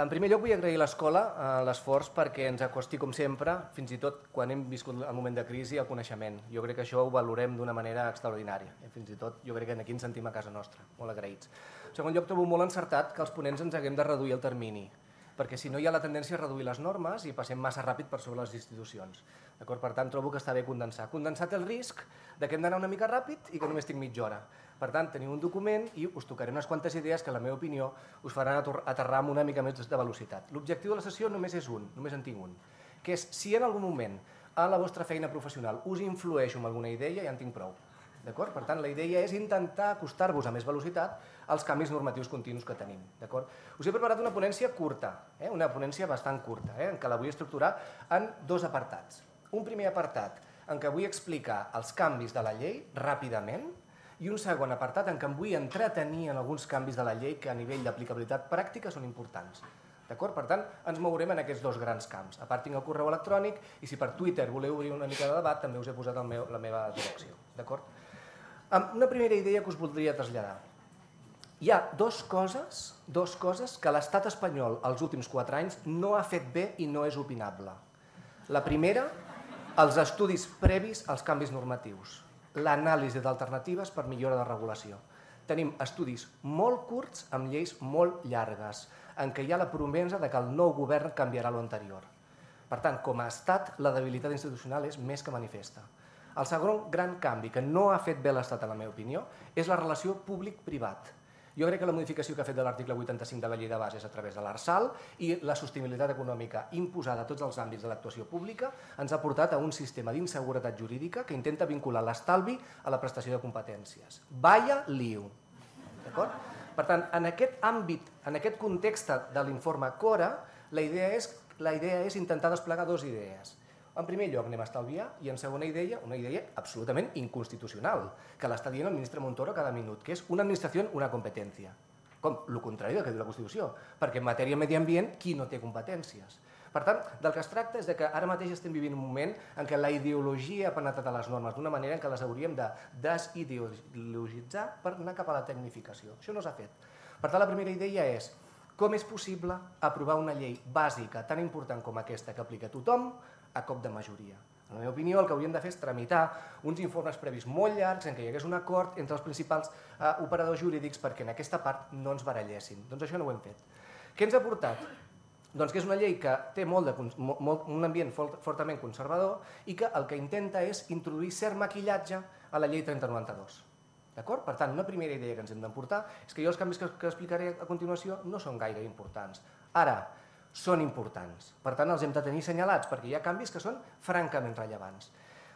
En primer lloc vull agrair a l'escola l'esforç perquè ens acosti, com sempre, fins i tot quan hem viscut el moment de crisi, el coneixement. Jo crec que això ho valorem d'una manera extraordinària. Fins i tot jo crec que aquí ens sentim a casa nostra, molt agraïts. En segon lloc, trobo molt encertat que els ponents ens haguem de reduir el termini, perquè si no hi ha la tendència a reduir les normes i passem massa ràpid per sobre les institucions. Per tant, trobo que està bé condensar. Condensar té el risc que hem d'anar una mica ràpid i que només tinc mitja hora. Per tant, teniu un document i us tocaré unes quantes idees que, en la meva opinió, us faran aterrar amb una mica més de velocitat. L'objectiu de la sessió només és un, només en tinc un, que és si en algun moment a la vostra feina professional us influeixo amb alguna idea, ja en tinc prou. Per tant, la idea és intentar acostar-vos a més velocitat als canvis normatius continus que tenim. Us he preparat una ponència curta, una ponència bastant curta, en què la vull estructurar en dos apartats. Un primer apartat en què vull explicar els canvis de la llei ràpidament i un segon apartat en què em vull entretenir en alguns canvis de la llei que a nivell d'aplicabilitat pràctica són importants. Per tant, ens mourem en aquests dos grans camps. A part tinc el correu electrònic i si per Twitter voleu obrir una mica de debat també us he posat la meva direcció. Una primera idea que us voldria traslladar. Hi ha dues coses que l'estat espanyol els últims 4 anys no ha fet bé i no és opinable. La primera, els estudis previs als canvis normatius. L'anàlisi d'alternatives per millora de regulació. Tenim estudis molt curts amb lleis molt llargues, en què hi ha la promesa que el nou govern canviarà l'anterior. Per tant, com a estat, la debilitat institucional és més que manifesta. El segon gran canvi que no ha fet bé l'estat, en la meva opinió, és la relació públic-privat. Jo crec que la modificació que ha fet de l'article 85 de la llei de bases a través de l'Arsal i la sostenibilitat econòmica imposada a tots els àmbits de l'actuació pública ens ha portat a un sistema d'inseguretat jurídica que intenta vincular l'estalvi a la prestació de competències. Vaya lío. Per tant, en aquest àmbit, en aquest context de l'informe Cora, la idea és intentar desplegar dues idees. En primer lloc anem a estalviar i en segona idea, una idea absolutament inconstitucional, que l'està dient el ministre Montoro cada minut, que és una administració, una competència. Com? El contrari del que diu la Constitució, perquè en matèria de medi ambient, qui no té competències? Per tant, del que es tracta és que ara mateix estem vivint un moment en què la ideologia ha penetrat a les normes d'una manera en què les hauríem de desideologitzar per anar cap a la tecnificació. Això no s'ha fet. Per tant, la primera idea és com és possible aprovar una llei bàsica tan important com aquesta que aplica a tothom a cop de majoria. En la meva opinió, el que hauríem de fer és tramitar uns informes previs molt llargs en què hi hagués un acord entre els principals operadors jurídics perquè en aquesta part no ens barallessin. Doncs això no ho hem fet. Què ens ha portat? Doncs que és una llei que té un ambient fortament conservador i que el que intenta és introduir cert maquillatge a la llei 3092. D'acord? Per tant, una primera idea que ens hem d'emportar és que jo els canvis que explicaré a continuació no són gaire importants. Ara, són importants. Per tant, els hem de tenir assenyalats perquè hi ha canvis que són francament rellevants.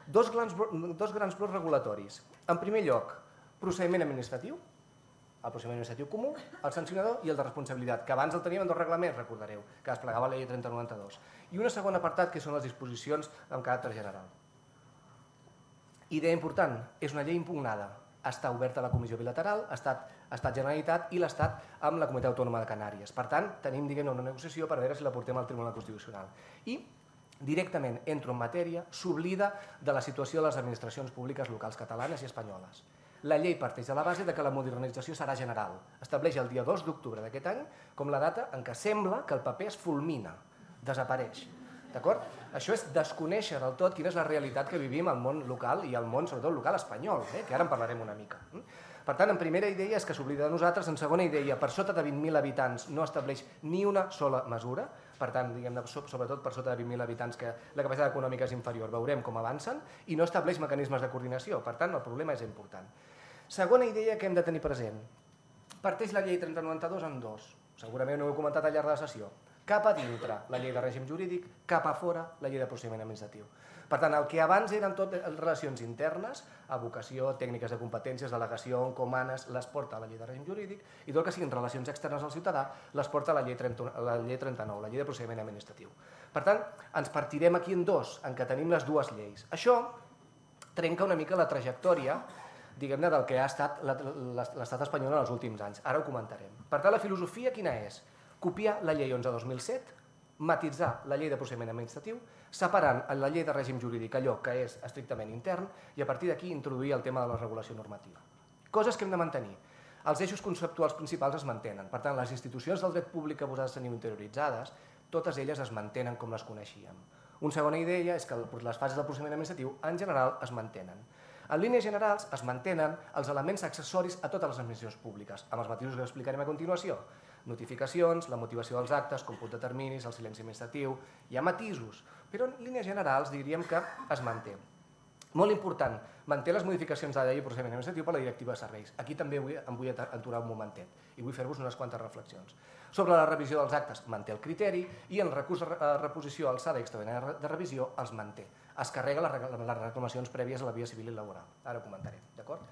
Dos grans blocs regulatoris. En primer lloc, procediment administratiu, el procediment administratiu comú, el sancionador i el de responsabilitat, que abans el teníem en dos reglaments, recordareu, que desplegava la llei 3092. I un segon apartat que són les disposicions amb caràcter general. Idea important, és una llei impugnada. Està oberta a la Comissió Bilateral, Estat Generalitat i l'Estat amb la Comunitat Autònoma de Canàries. Per tant, tenim una negociació per veure si la portem al Tribunal Constitucional. I directament entro en matèria, s'oblida de la situació de les administracions públiques locals catalanes i espanyoles. La llei parteix de la base que la modernització serà general. Estableix el dia 2 d'octubre d'aquest any com la data en què sembla que el paper es fulmina, desapareix. Això és desconèixer del tot quina és la realitat que vivim al món local i al món, sobretot, local espanyol, que ara en parlarem una mica. Per tant, en primera idea és que s'oblida de nosaltres, en segona idea, per sota de 20.000 habitants no estableix ni una sola mesura, per tant, sobretot per sota de 20.000 habitants que la capacitat econòmica és inferior, veurem com avancen, i no estableix mecanismes de coordinació, per tant, el problema és important. Segona idea que hem de tenir present. Parteix la llei 3092 en dos, segurament no ho he comentat al llarg de la sessió. Cap a dintre la llei de règim jurídic, cap a fora la llei de procediment administratiu. Per tant, el que abans eren tot relacions internes, abocació, tècniques de competències, delegació, encomanes, les porta a la llei de règim jurídic i tot el que siguin relacions externes al ciutadà les porta a la llei 39, la llei de procediment administratiu. Per tant, ens partirem aquí en dos, en què tenim les dues lleis. Això trenca una mica la trajectòria diguem-ne del que ha estat l'estat espanyol en els últims anys. Ara ho comentarem. Per tant, la filosofia quina és? Copiar la llei 11/2007, matitzar la llei de procediment administratiu, separant en la llei de règim jurídic allò que és estrictament intern i a partir d'aquí introduir el tema de la regulació normativa. Coses que hem de mantenir. Els eixos conceptuals principals es mantenen. Per tant, les institucions del dret públic que vosaltres teniu interioritzades, totes elles es mantenen com les coneixíem. Una segona idea és que les fases del procediment administratiu en general es mantenen. En línies generals es mantenen els elements accessoris a totes les administracions públiques, amb els matisos que explicarem a continuació. Notificacions, la motivació dels actes, còmput de terminis, el silenci administratiu, hi ha matisos, però en línies generals diríem que es manté. Molt important, manté les modificacions de la llei de procediment administratiu per la directiva de serveis. Aquí també em vull aturar un momentet i vull fer-vos unes quantes reflexions. Sobre la revisió dels actes, manté el criteri i en el recurs de reposició alçada i extraordinària de revisió els manté. Es carrega les reclamacions prèvies a la via civil i laboral. Ara ho comentaré, d'acord?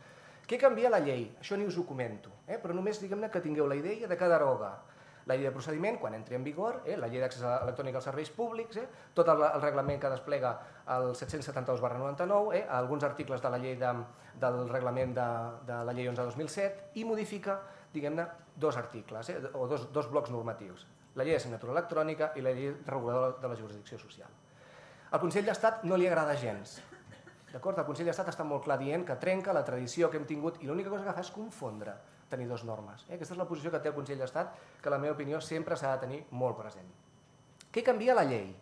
Què canvia la llei? Això ni us ho comento, però només diguem-ne que tingueu la idea de que deroga la llei de procediment, quan entri en vigor, la llei d'accés electrònic als serveis públics, tot el reglament que desplega el 772/99, alguns articles de la llei del reglament de la llei 11/2007 i modifica, diguem-ne, dos articles o dos blocs normatius, la llei de signatura electrònica i la llei reguladora de la jurisdicció social. Al Consell d'Estat no li agrada gens. D'acord? El Consell d'Estat està molt clar dient que trenca la tradició que hem tingut i l'única cosa que fa és confondre tenir dues normes. Aquesta és la posició que té el Consell d'Estat, que en la meva opinió sempre s'ha de tenir molt present. Què canvia la llei?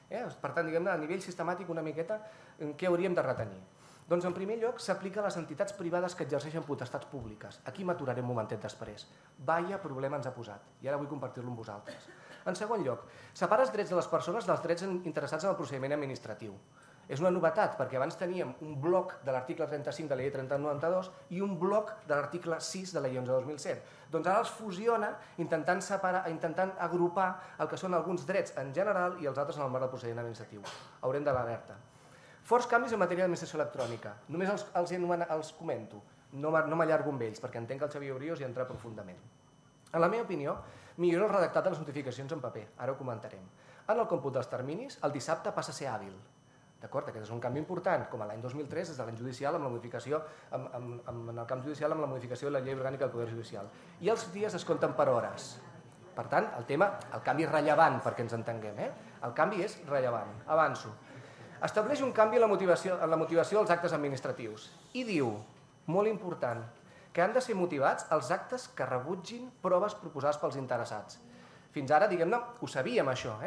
Per tant, diguem-ne, a nivell sistemàtic una miqueta, què hauríem de retenir? Doncs en primer lloc s'aplica a les entitats privades que exerceixen potestats públiques. Aquí m'aturaré un momentet després. Vaya problema ens ha posat i ara vull compartir-lo amb vosaltres. En segon lloc, separa els drets de les persones dels drets interessats en el procediment administratiu. És una novetat perquè abans teníem un bloc de l'article 35 de la llei 3092 i un bloc de l'article 6 de la llei 11/2007. Doncs ara els fusiona intentant separar, intentant agrupar el que són alguns drets en general i els altres en el marc del procediment administratiu. Haurem de l'alerta. Forts canvis en matèria d'administració electrònica. Només els comento, no m'allargo amb ells perquè entenc que el Xavier Oriós hi entra profundament. En la meva opinió, millora el redactat de les notificacions en paper, ara ho comentarem. En el còmput dels terminis, el dissabte passa a ser hàbil. D'acord? Aquest és un canvi important, com l'any 2003, des de l'any judicial, amb la modificació, en el camp judicial, amb la modificació de la llei orgànica del Poder Judicial. I els dies es compten per hores. Per tant, el canvi és rellevant perquè ens entenguem. El canvi és rellevant. Avanço. Estableix un canvi en la motivació dels actes administratius i diu, molt important, que han de ser motivats els actes que rebutgin proves proposades pels interessats. Fins ara, diguem-ne, ho sabíem això,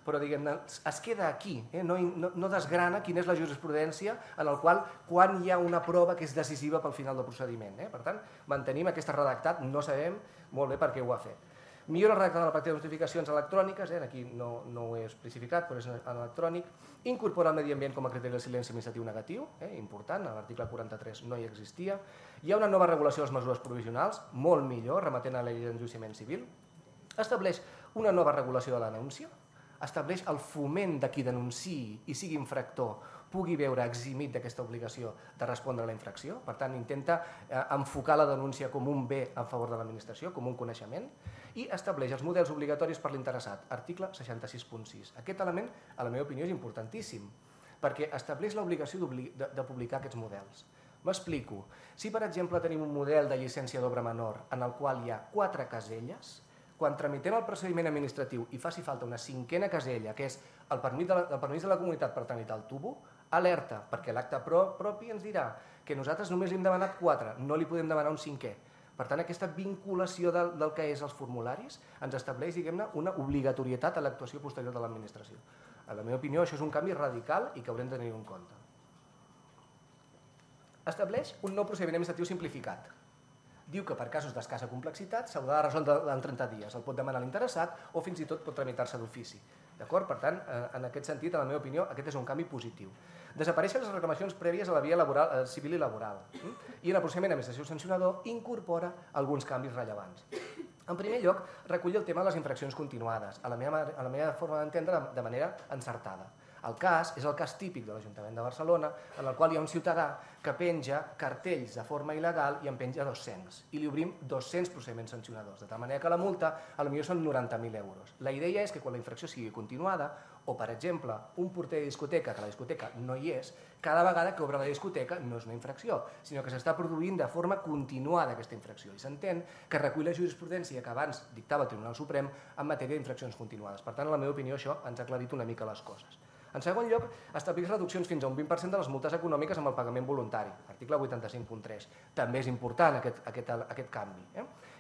però diguem-ne, es queda aquí, no desgrana quina és la jurisprudència en el qual quan hi ha una prova que és decisiva pel final del procediment. Per tant, mantenim aquest redactat, no sabem molt bé per què ho ha fet. Millora el redactat de la pràctica de notificacions electròniques, aquí no ho he especificat, però és en electrònic. Incorpora el medi ambient com a criteri de silenci administratiu negatiu, important, a l'article 43 no hi existia. Hi ha una nova regulació de les mesures provisionals, molt millor, remetent a la llei d'enjudiciament civil. Estableix una nova regulació de la denúncia, estableix el foment de qui denunciï i sigui infractor pugui veure eximit d'aquesta obligació de respondre a la infracció. Per tant, intenta enfocar la denúncia com un bé a favor de l'administració, com un coneixement, i estableix els models obligatoris per l'interessat, article 66.6. Aquest element, a la meva opinió, és importantíssim, perquè estableix l'obligació de publicar aquests models. M'explico. Si, per exemple, tenim un model de llicència d'obra menor en el qual hi ha 4 caselles, quan tramitem el procediment administratiu i faci falta una 5a casella, que és el permís de la comunitat per tramitar el tubo, alerta, perquè l'acte propi ens dirà que nosaltres només li hem demanat 4, no li podem demanar un 5è. Per tant, aquesta vinculació del que és els formularis ens estableix, diguem-ne, una obligatorietat a l'actuació posterior de l'administració. En la meva opinió, això és un canvi radical i que haurem de tenir en compte. Estableix un nou procediment administratiu simplificat. Diu que per casos d'escassa complexitat s'haurà de resoldre en 30 dies. El pot demanar l'interessat o fins i tot pot tramitar-se d'ofici. D'acord? Per tant, en aquest sentit, en la meva opinió, aquest és un canvi positiu. Desapareixen les reclamacions prèvies a la via civil i laboral. I en el procediment d'administració sancionador incorpora alguns canvis rellevants. En primer lloc, recull el tema de les infraccions continuades, a la meva forma d'entendre, de manera encertada. El cas és el cas típic de l'Ajuntament de Barcelona, en el qual hi ha un ciutadà que penja cartells de forma il·legal i en penja 200. I li obrim 200 procediments sancionadors, de tal manera que la multa potser són 90.000 euros. La idea és que quan la infracció sigui continuada, o per exemple, un porter de discoteca, que la discoteca no hi és, cada vegada que obre la discoteca no és una infracció, sinó que s'està produint de forma continuada aquesta infracció. I s'entén que recull la jurisprudència que abans dictava el Tribunal Suprem en matèria d'infraccions continuades. Per tant, en la meva opinió, això ens ha aclarit una mica les coses. En segon lloc, establir reduccions fins a un 20% de les multes econòmiques amb el pagament voluntari, article 85.3. També és important aquest canvi.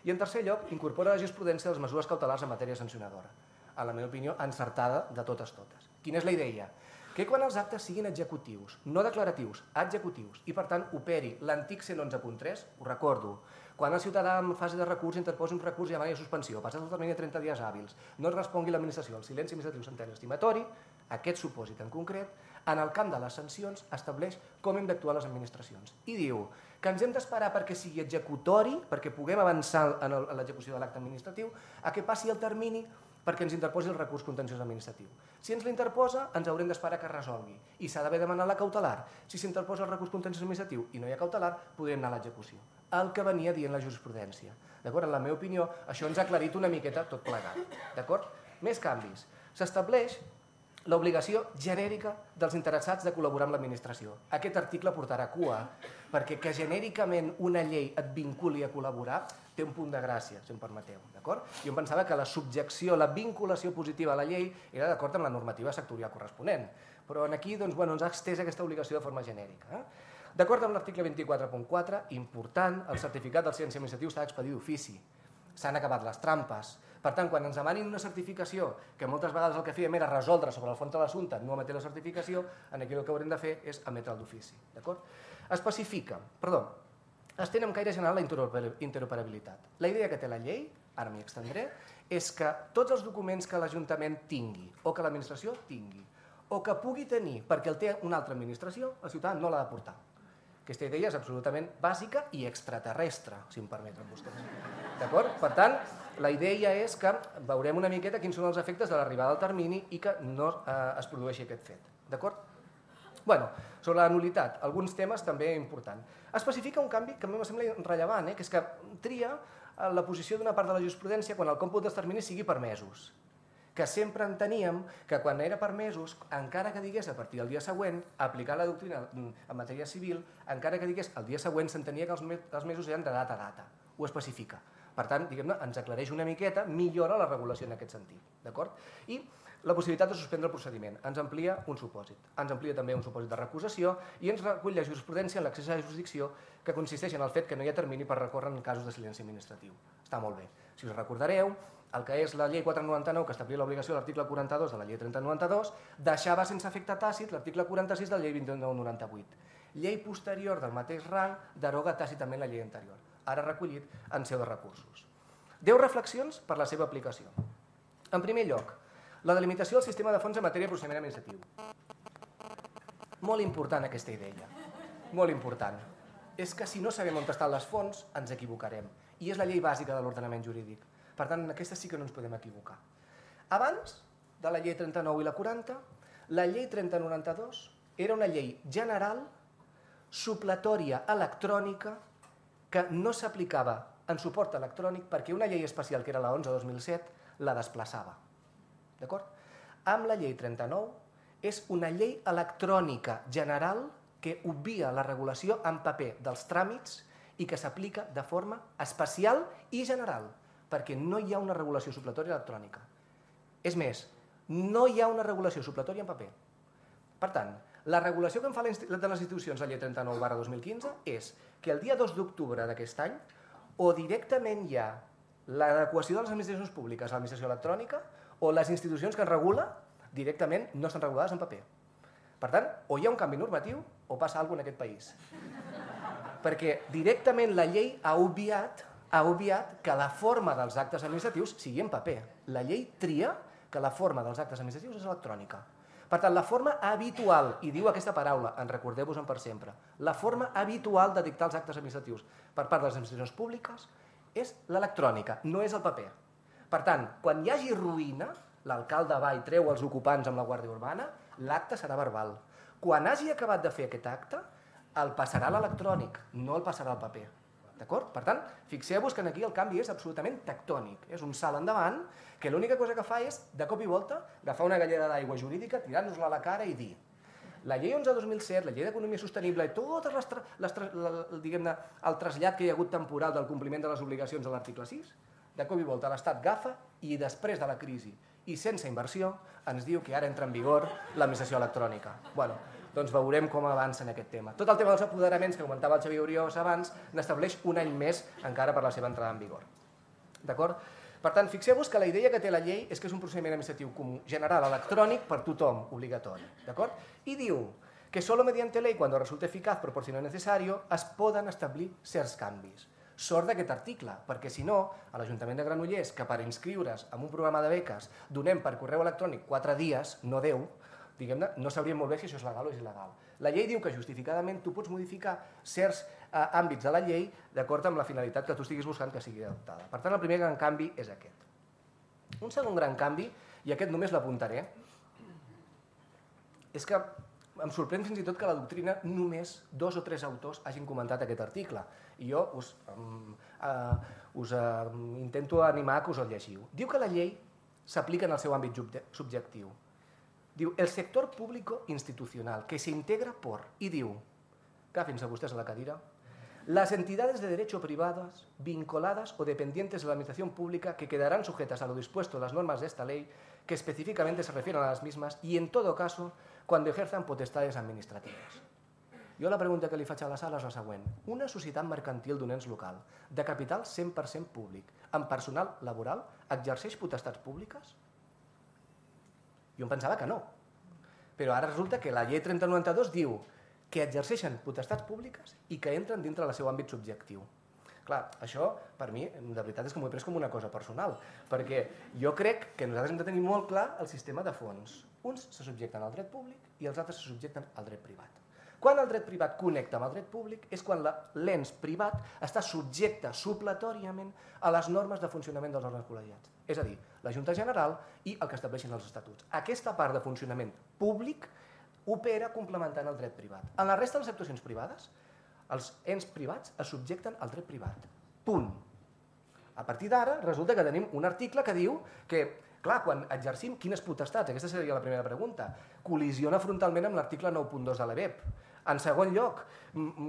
I en tercer lloc, incorpora la jurisprudència de les mesures cautelars en matèria sancionadora. A la meva opinió, encertada de totes. Quina és la idea? Que quan els actes siguin executius, no declaratius, executius, i per tant operi l'antic 111.3, ho recordo, quan el ciutadà en fase de recurs interposi un recurs i demani suspensió, passat el termini de 30 dies hàbils, no es respongui l'administració al silenci administratiu sentència estimatori, aquest supòsit en concret, en el camp de les sancions estableix com hem d'actuar les administracions. I diu que ens hem d'esperar perquè sigui executori, perquè puguem avançar en l'execució de l'acte administratiu, a que passi el termini perquè ens interposi el recurs contenciós administratiu. Si ens l'interposa, ens haurem d'esperar que es resolgui i s'ha d'haver demanat la cautelar. Si s'interposa el recurs contenciós administratiu i no hi ha cautelar, podrem anar a l'execució. El que venia dient la jurisprudència. D'acord? En la meva opinió, això ens ha aclarit una miqueta tot plegat. D'acord? Més canvis. S'estableix l'obligació genèrica dels interessats de col·laborar amb l'administració. Aquest article portarà cua, perquè que genèricament una llei et vinculi a col·laborar té un punt de gràcia, si em permeteu. Jo em pensava que la subjecció, la vinculació positiva a la llei era d'acord amb la normativa sectorial corresponent, però aquí ens ha estès aquesta obligació de forma genèrica. D'acord amb l'article 24.4, important, el certificat del silenci administratiu s'ha d'expedir d'ofici. S'han acabat les trampes. Per tant, quan ens demanin una certificació, que moltes vegades el que fèiem era resoldre sobre el fons de l'assumpte, no emetre la certificació, aquí el que haurem de fer és emetre'l d'ofici. Estén amb caire general la interoperabilitat. La idea que té la llei, ara m'hi extendré, és que tots els documents que l'Ajuntament tingui o que l'administració tingui o que pugui tenir perquè el té una altra administració, el ciutadà no l'ha de portar. Aquesta idea és absolutament bàsica i extraterrestre, si em permeten vostès. D'acord? Per tant, la idea és que veurem una miqueta quins són els efectes de l'arribada al termini i que no es produeixi aquest fet. D'acord? Sobre la nul·litat, alguns temes també importants. Especifica un canvi que a mi em sembla rellevant, que és que tria la posició d'una part de la jurisprudència quan el còmput dels terminis sigui per mesos. Que sempre enteníem que quan era per mesos, encara que digués a partir del dia següent, aplicar la doctrina en matèria civil, encara que digués el dia següent s'entenia que els mesos eren de data a data. Ho especifica. Per tant, diguem-ne, ens aclareix una miqueta, millora la regulació en aquest sentit. D'acord? I la possibilitat de suspendre el procediment. Ens amplia un supòsit. Ens amplia també un supòsit de recusació i ens recull la jurisprudència en l'accés a la jurisdicció que consisteix en el fet que no hi ha termini per recórrer en casos de silenci administratiu. Està molt bé. Si us recordareu, el que és la llei 499, que establia l'obligació de l'article 42 de la llei 3092, deixava sense efecte tàcit l'article 46 de la llei 2998. Llei posterior del mateix rang deroga tàcitament la llei anterior, ara recollit en seu de recursos. 10 reflexions per la seva aplicació. En primer lloc, la delimitació del sistema de fons en matèria de procediment administratiu. Molt important aquesta idea, molt important. És que si no sabem on estan les fonts, ens equivocarem. I és la llei bàsica de l'ordenament jurídic. Per tant, en aquesta sí que no ens podem equivocar. Abans de la llei 39 i la 40, la llei 3092 era una llei general, supletòria electrònica, que no s'aplicava en suport electrònic perquè una llei especial, que era la 11/2007, la desplaçava. D'acord? Amb la llei 39 és una llei electrònica general que obvia la regulació en paper dels tràmits i que s'aplica de forma especial i general, perquè no hi ha una regulació supletòria electrònica. És més, no hi ha una regulació supletòria en paper. Per tant, la regulació que en fa de les institucions la llei 39/2015 és que el dia 2 d'octubre d'aquest any o directament hi ha l'adequació de les administracions públiques a l'administració electrònica o les institucions que en regula directament no estan regulades en paper. Per tant, o hi ha un canvi normatiu o passa alguna cosa en aquest país. Perquè directament la llei ha obviat que la forma dels actes administratius sigui en paper. La llei tria que la forma dels actes administratius és electrònica. Per tant, la forma habitual, i diu aquesta paraula, en recordeu-vos-en per sempre, la forma habitual de dictar els actes administratius per part de les administracions públiques és l'electrònica, no és el paper. Per tant, quan hi hagi ruïna, l'alcalde va i treu els ocupants amb la Guàrdia Urbana, l'acte serà verbal. Quan hagi acabat de fer aquest acte, el passarà a l'electrònic, no el passarà al paper. D'acord? Per tant, fixeu-vos que aquí el canvi és absolutament tectònic. És un salt endavant que l'única cosa que fa és, de cop i volta, agafar una galleda d'aigua jurídica, tirar-nos-la a la cara i dir la llei 11/2007, la llei d'economia sostenible i tot el trasllat que hi ha hagut temporal del compliment de les obligacions de l'article 6, de cop i volta l'Estat agafa i després de la crisi i sense inversió ens diu que ara entra en vigor l'administració electrònica. Bueno, doncs veurem com avança en aquest tema. Tot el tema dels apoderaments que comentava el Xavier Oriós abans n'estableix un any més encara per la seva entrada en vigor. D'acord? Per tant, fixeu-vos que la idea que té la llei és que és un procediment administratiu comú general electrònic per tothom, obligatori. D'acord? I diu que solo mediante ley, cuando resulte eficaz, proporcional y necesario, es poden establir certs canvis. Sort d'aquest article, perquè si no, a l'Ajuntament de Granollers, que per inscriure's en un programa de beques donem per correu electrònic 4 dies, no 10, diguem-ne, no sabríem molt bé si això és legal o és il·legal. La llei diu que justificadament tu pots modificar certs àmbits de la llei d'acord amb la finalitat que tu estiguis buscant que sigui adoptada. Per tant, el primer gran canvi és aquest. Un segon gran canvi, i aquest només l'apuntaré, és que em sorprèn fins i tot que la doctrina només 2 o 3 autors hagin comentat aquest article. I jo us intento animar que us el llegiu. Diu que la llei s'aplica en el seu àmbit subjectiu. Diu, el sector público institucional, que se integra por, i diu, agafin-se vostès a la cadira, las entidades de derecho privadas vinculadas o dependientes de la administración pública que quedarán sujetas a lo dispuesto en las normas de esta ley que específicamente se refieren a las mismas y en todo caso cuando ejerzan potestades administratives. Jo la pregunta que li faig a la sala és la següent. Una societat mercantil d'un ens local, de capital 100% públic, amb personal laboral, exerceix potestats públiques? Jo em pensava que no. Però ara resulta que la llei 3092 diu que exerceixen potestats públiques i que entren dintre del seu àmbit subjectiu. Clar, això per mi, de veritat, és que m'ho he pres com una cosa personal, perquè jo crec que nosaltres hem de tenir molt clar el sistema de fons. Uns se subjecten al dret públic i els altres se subjecten al dret privat. Quan el dret privat connecta amb el dret públic és quan l'ens privat està subjecte supletòriament a les normes de funcionament dels òrgans col·legiats. És a dir, la Junta General i el que estableixin els estatuts. Aquesta part de funcionament públic opera complementant el dret privat. En la resta de les actuacions privades, els ens privats es subjecten al dret privat. Punt. A partir d'ara, resulta que tenim un article que diu que, clar, quan exercim quines potestats, aquesta seria la primera pregunta, col·lisiona frontalment amb l'article 9.2 de l'EBEP. En segon lloc,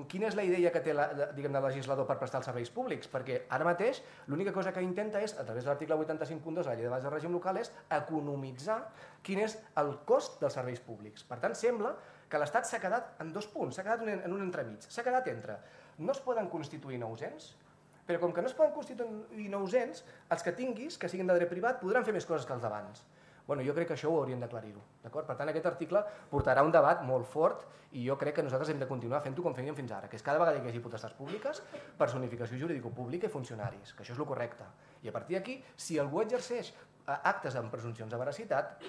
quina és la idea que té el legislador per prestar els serveis públics? Perquè ara mateix l'única cosa que intenta és, a través de l'article 85.2 de la llei de base de règim local, és economitzar quin és el cost dels serveis públics. Per tant, sembla que l'Estat s'ha quedat en 2 punts, s'ha quedat en un entremig. S'ha quedat entre no es poden constituir nous ens, però com que no es poden constituir nous ens, els que tinguis, que siguin de dret privat, podran fer més coses que els d'abans. Bueno, jo crec que això ho hauríem d'aclarir-ho. Per tant, aquest article portarà un debat molt fort i jo crec que nosaltres hem de continuar fent-ho com fèiem fins ara, que és cada vegada que hi hagi potestats públiques, personificació jurídico-pública i funcionaris, que això és el correcte. I a partir d'aquí, si algú exerceix actes amb presumpcions de veracitat,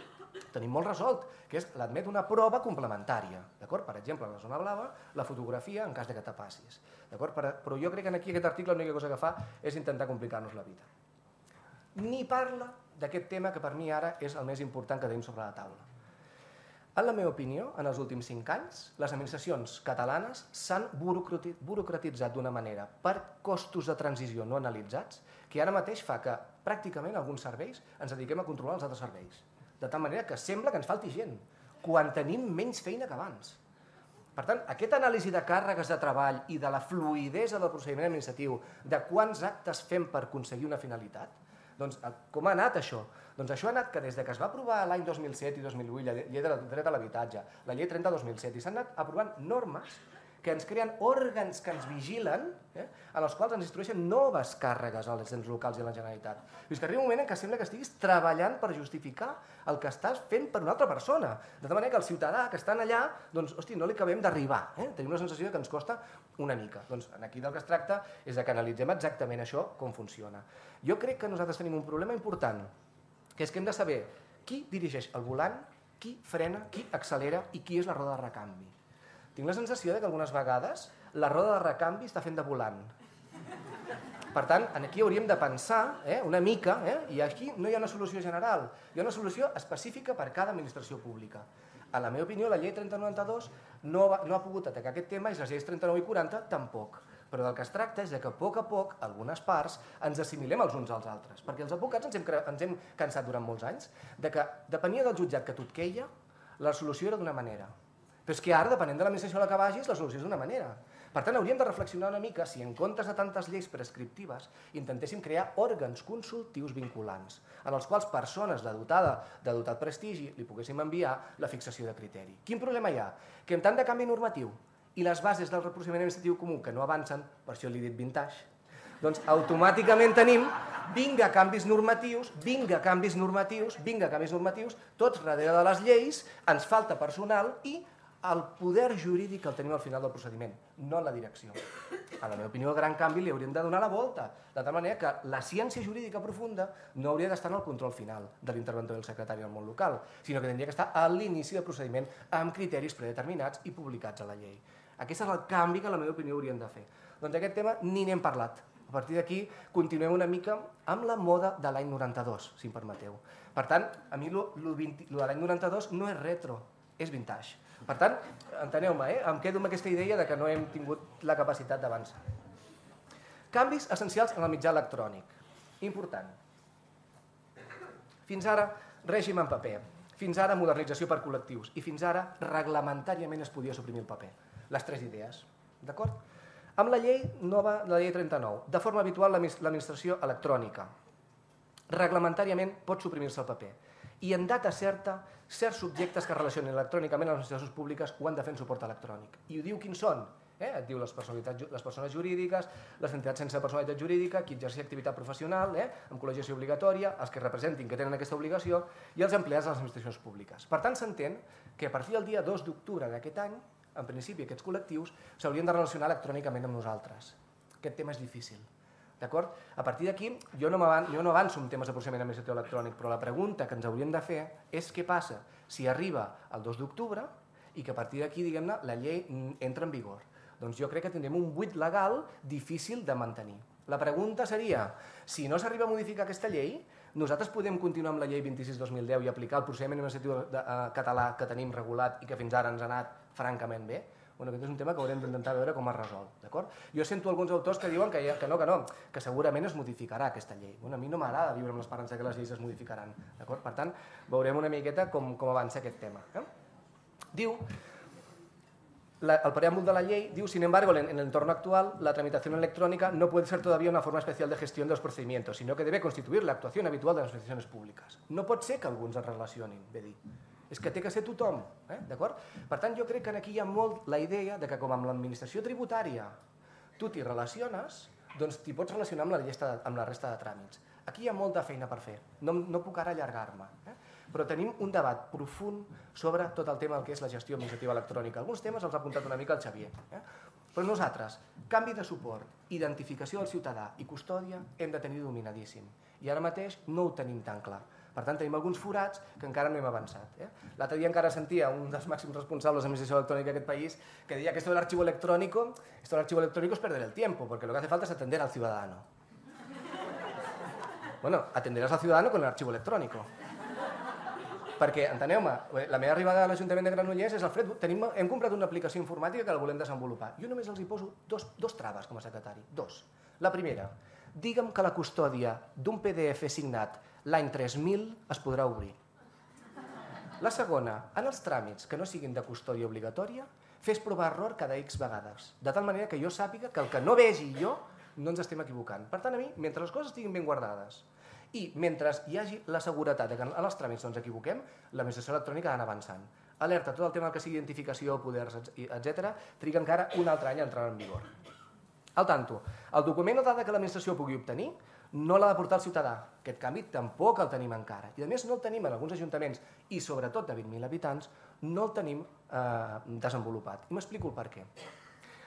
tenim molt resolt, que és l'admet una prova complementària. Per exemple, a la zona blava, la fotografia en cas que te passis. Però jo crec que aquí aquest article l'única cosa que fa és intentar complicar-nos la vida. Ni parla d'aquest tema que per mi ara és el més important que tenim sobre la taula. En la meva opinió, en els últims 5 anys, les administracions catalanes s'han burocratitzat d'una manera per costos de transició no analitzats que ara mateix fa que pràcticament alguns serveis ens dediquem a controlar els altres serveis. De tal manera que sembla que ens falti gent, quan tenim menys feina que abans. Per tant, aquesta anàlisi de càrregues de treball i de la fluïdesa del procediment administratiu, de quants actes fem per aconseguir una finalitat, doncs com ha anat això? Doncs això ha anat que des que es va aprovar l'any 2007 i 2008 la llei de dret a l'habitatge, la llei 30/2007, i s'han anat aprovant normes que ens creen òrgans que ens vigilen, en els quals ens instrueixen noves càrregues als ens locals i a la Generalitat. És que arriba un moment en què sembla que estiguis treballant per justificar el que estàs fent per una altra persona. De tal manera que el ciutadà que està allà, doncs, hosti, no li acabem d'arribar. Tenim una sensació que ens costa una mica. Doncs aquí del que es tracta és que analitzem exactament això, com funciona. Jo crec que nosaltres tenim un problema important, que és que hem de saber qui dirigeix el volant, qui frena, qui accelera i qui és la roda de recanvi. Tinc la sensació que algunes vegades la roda de recanvi està fent de volant. Per tant, aquí hauríem de pensar una mica, i aquí no hi ha una solució general, hi ha una solució específica per cada administració pública. En la meva opinió, la llei 3092 no ha pogut atacar aquest tema i les lleis 39 i 40 tampoc. Però del que es tracta és que a poc, algunes parts, ens assimilem els uns als altres. Perquè els advocats ens hem cansat durant molts anys de que depenia del jutjat que tu et queia, la solució era d'una manera. Però és que ara, depenent de l'administració a la que vagis, la solució és d'una manera. Per tant, hauríem de reflexionar una mica si en comptes de tantes lleis prescriptives intentéssim crear òrgans consultius vinculants, en els quals persones de dotat prestigi li poguéssim enviar la fixació de criteri. Quin problema hi ha? Que amb tant de canvi normatiu i les bases del procediment administratiu comú que no avancen, per això li he dit vintage, doncs automàticament tenim vinga canvis normatius, tots darrere de les lleis, ens falta personal i el poder jurídic el tenim al final del procediment, no la direcció. A la meva opinió, el gran canvi li hauríem de donar la volta, de tal manera que la ciència jurídica profunda no hauria d'estar en el control final de l'interventor del secretari del món local, sinó que hauria d'estar a l'inici del procediment amb criteris predeterminats i publicats a la llei. Aquest és el canvi que, a la meva opinió, hauríem de fer. Doncs aquest tema ni n'hem parlat. A partir d'aquí continuem una mica amb la moda de l'any 92, si em permeteu. Per tant, a mi lo de l'any 92 no és retro, és vintage. Per tant, enteneu-me, em quedo amb aquesta idea de que no hem tingut la capacitat d'avançar. Canvis essencials en el mitjà electrònic. Important. Fins ara, règim en paper. Fins ara, modernització per col·lectius. I fins ara, reglamentàriament es podia suprimir el paper. Les tres idees. D'acord? Amb la llei nova, la llei 39, de forma habitual l'administració electrònica. Reglamentàriament pot suprimir-se el paper. I en data certa, certs subjectes que es relacionen electrònicament a les administracions públiques ho han de fer en suport electrònic. I ho diu quins són. Et diu les persones jurídiques, les entitats sense personalitat jurídica, qui exerceix activitat professional, amb col·legiació obligatòria, els que representin que tenen aquesta obligació i els empleats de les administracions públiques. Per tant, s'entén que a partir del dia 2 d'octubre d'aquest any, en principi aquests col·lectius s'haurien de relacionar electrònicament amb nosaltres. Aquest tema és difícil. D'acord? A partir d'aquí, jo no avanço en temes de procediment administratiu electrònic, però la pregunta que ens hauríem de fer és què passa si arriba el 2 d'octubre i que a partir d'aquí, diguem-ne, la llei entra en vigor. Doncs jo crec que tindrem un buit legal difícil de mantenir. La pregunta seria, si no s'arriba a modificar aquesta llei, nosaltres podem continuar amb la llei 26/2010 i aplicar el procediment administratiu català que tenim regulat i que fins ara ens ha anat francament bé? Bueno, aquest és un tema que haurem d'intentar veure com es resol. Jo sento alguns autors que diuen que no, que segurament es modificarà aquesta llei. A mi no m'agrada viure amb l'esperança que les lleis es modificaran. Per tant, veurem una miqueta com avança aquest tema. Diu, el preámbulo de la ley diu, sin embargo, en el entorno actual, la tramitación electrónica no puede ser todavía una forma especial de gestión de los procedimientos, sino que debe constituir la actuación habitual de las instituciones públiques. No pot ser que alguns es relacionin, bé dir. És que té que ser tothom, d'acord? Per tant, jo crec que aquí hi ha molt la idea de que com amb l'administració tributària tu t'hi relaciones, doncs t'hi pots relacionar amb la resta de tràmits. Aquí hi ha molta feina per fer, no puc ara allargar-me, però tenim un debat profund sobre tot el tema del que és la gestió administrativa electrònica. Alguns temes els ha apuntat una mica el Xavier. Però nosaltres, canvi de suport, identificació del ciutadà i custòdia hem de tenir dominadíssim. I ara mateix no ho tenim tan clar. Per tant, tenim alguns forats que encara no hem avançat. L'altre dia encara sentia un dels màxims responsables de l'administració electrònica d'aquest país que deia que esto del archivo electrónico es perder el tiempo, porque lo que hace falta es atender al ciudadano. Bueno, atenderàs al ciudadano con el archivo electrónico. Perquè, enteneu-me, la meva arribada a l'Ajuntament de Granollers és el fred, hem comprat una aplicació informàtica que la volem desenvolupar. Jo només els hi poso dos traves com a secretari, dos. La primera, digue'm que la custòdia d'un PDF signat l'any 3000 es podrà obrir. La segona, en els tràmits que no siguin de custòdia obligatòria, fes prova error cada X vegades, de tal manera que jo sàpiga que el que no vegi jo no ens estem equivocant. Per tant, a mi, mentre les coses estiguin ben guardades i mentre hi hagi la seguretat que en els tràmits no ens equivoquem, l'administració electrònica ha d'anar avançant. Alerta, tot el tema que sigui identificació, poders, etc., triga encara un altre any a entrar en vigor. Al tanto, el document o dada que l'administració pugui obtenir no l'ha de portar el ciutadà. Aquest canvi tampoc el tenim encara. I a més no el tenim en alguns ajuntaments i sobretot de 20.000 habitants no el tenim desenvolupat. I m'explico el per què.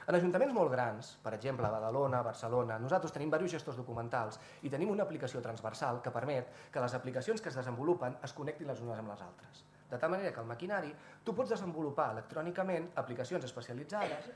En ajuntaments molt grans, per exemple, Badalona, Barcelona, nosaltres tenim diversos gestors documentals i tenim una aplicació transversal que permet que les aplicacions que es desenvolupen es connectin les unes amb les altres. De tal manera que el maquinari tu pots desenvolupar electrònicament aplicacions especialitzades,